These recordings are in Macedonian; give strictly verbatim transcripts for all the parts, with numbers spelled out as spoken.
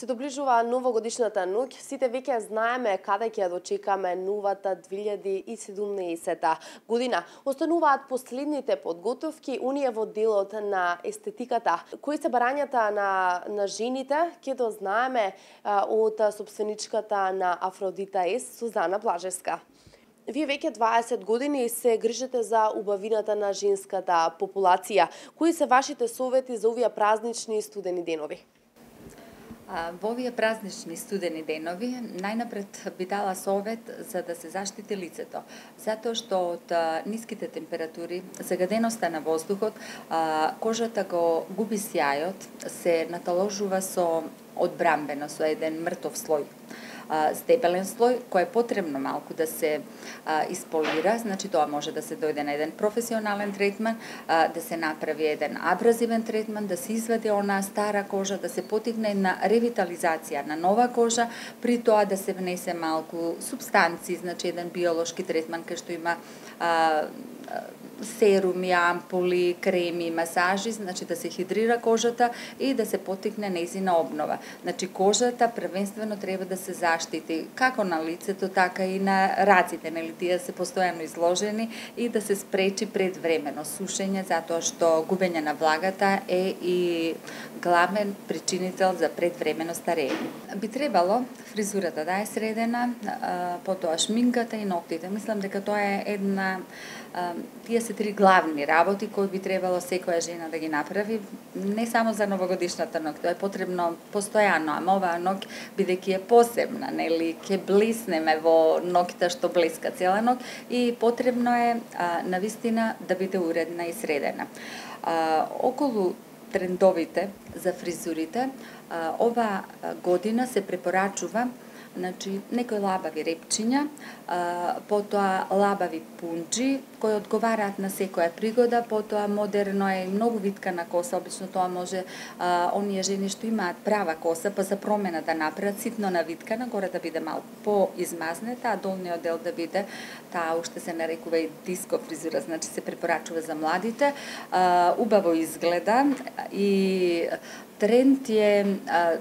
Се доближува новогодишната ноќ, сите веќе знаеме каде ќе дочекаме новата две илјади и седумнаесета година. Остануваат последните подготовки, оние во делот на естетиката. Кои се барањата на, на жените, ќе дознаеме а, од собственичката на Афродита Ес, Сузана Блажевска. Вие веќе дваесет години се грижите за убавината на женската популација. Кои се вашите совети за овие празнични и студени денови? Во овие празнични студени денови, најнапред би дала совет за да се заштити лицето, затоа што од ниските температури, загаденоста на воздухот, кожата го губи сјајот, се наталожува со одбрамбено, со еден мртов слој. Стебелен слој, кој е потребно малку да се а, исполира, значи тоа може да се дојде на еден професионален третман, а, да се направи еден абразивен третман, да се извади она стара кожа, да се потигне една ревитализација на нова кожа, при тоа да се внесе малку субстанции, значи еден биолошки третман кај што има а, серуми, ампули, креми, масажи, значи да се хидрира кожата и да се потикне нејзина обнова. Значи кожата првенствено треба да се заштити како на лицето, така и на раците, нели тие се постојано изложени и да се спречи предвремено сушење, затоа што губење на влагата е и главен причинител за предвремено старење. Би требало фризурата да е средена, потоа шминката и ноктите. Мислам дека тоа е една тие се три главни работи кои би требало секоја жена да ги направи, не само за новогодишната ноќ, тоа е потребно постојано, ама оваа ноќ бидејќи е посебна, нели, ќе блиснеме во ноќта што блеска цела ноќ и потребно е а, навистина да биде уредна и средена. А, околу трендовите за фризурите, а, ова година се препорачува значи некои лабави репчиња, а, потоа лабави пунџи кои одговараат на секоја пригода, потоа модерно е многу виткана коса, обично тоа може а, оние жени што имаат права коса, па за промена да направат ситно навиткана, горе да биде малку поизмазнета, а долниот дел да биде, таа уште се нарекува и диско фризура, значи се препорачува за младите, а, убаво изгледа и тренд е а,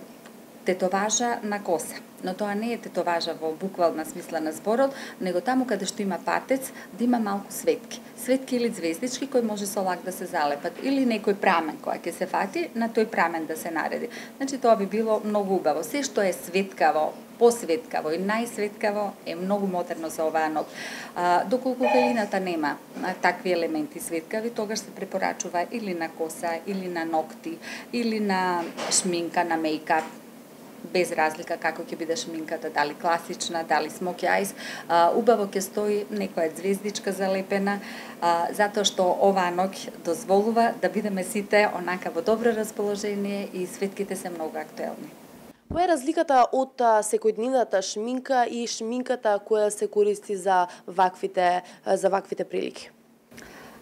тетоважа на коса. Но тоа не е тетоважа во буквална смисла на зборот, него таму каде што има патец, да има малку светки. Светки или звездички кои може со лак да се залепат, или некој прамен кој ќе се фати, на тој прамен да се нареди. Значи тоа би било многу убаво. Се што е светкаво, посветкаво и најсветкаво е многу модерно за оваа ноќ. А, доколку велината нема а, такви елементи светкави, тогаш се препорачува или на коса, или на ногти, или на шминка, на мејкап, без разлика како ќе биде шминката, дали класична, дали смоки ајс, убаво ќе стои некоја звездичка залепена, а, затоа што оваа ноќ дозволува да бидеме сите онака во добро расположение и светките се многу актуелни. Која е разликата од секојдневната шминка и шминката која се користи за ваквите за ваквите прилики?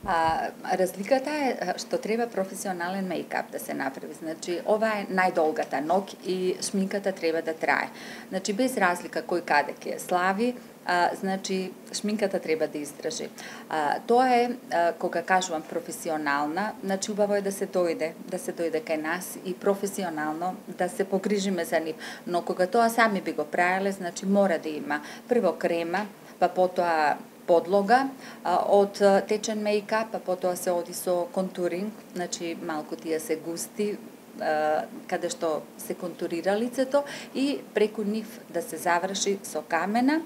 А, разликата е што треба професионален мејкап да се направи. Значи, ова е најдолгата ноќ и шминката треба да трае. Значи, без разлика кој каде ќе слави, а, значи, шминката треба да издржи. А, тоа е, а, кога кажувам професионална, значи, убаво е да се дојде, да се дојде кај нас и професионално да се погрижиме за нив. Но кога тоа сами би го правеле, значи, мора да има прво крема, па потоа подлога а, од течен мејкап, а потоа се оди со контуринг, значи малку тие се густи, а, каде што се контурира лицето и преку нив да се заврши со камена,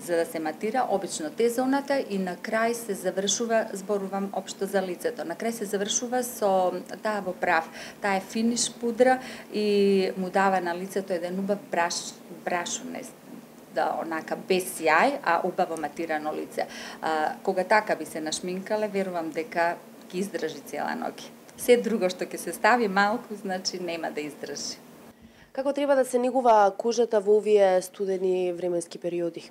за да се матира обично Т-зоната и на крај се завршува, зборувам општо за лицето, на крај се завршува со таа во прав, таа е финиш пудра и му дава на лицето еден убав браш, брашунест, да онака без сјај, а убаво матирано лице. А, кога така би се нашминкале, верувам дека ќе издржи цела ноќ. Се друго што ќе се стави малку, значи нема да издржи. Како треба да се негува кожата во овие студени временски периоди?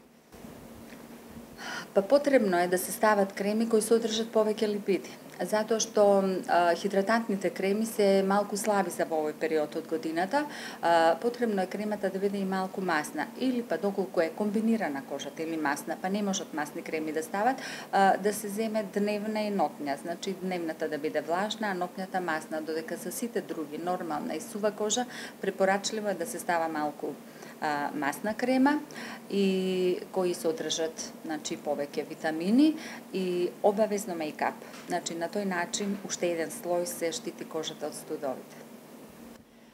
Па потребно е да се стават креми кои содржат повеќе липиди. затоа што а, хидратантните креми се малку слаби за во овој период од годината. А, потребно е кремата да биде и малку масна, или па доколку е комбинирана кожата или масна, па не можат масни креми да стават, а, да се земе дневна и нотња. Значи дневната да биде влажна, а нотњата масна, додека за сите други нормална и сува кожа препорачливо е да се става малку а, масна крема и кои содржат, значи, повеќе витамини и обавезно мејкап. Значи на тој начин уште еден слој се штити кожата од студовите.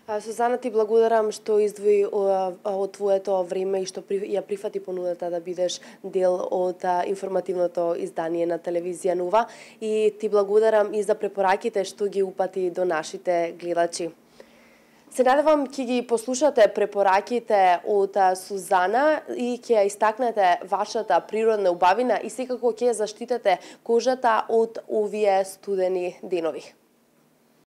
Сузана, ти благодарам што издвои од твоето време и што ја прифати понудата да бидеш дел од информативното издание на телевизија Нова, и ти благодарам и за препораките што ги упати до нашите гледачи. Се надевам ќе ги послушате препораките од Сузана и ќе ја истакнете вашата природна убавина и секако ќе заштитете кожата од овие студени денови.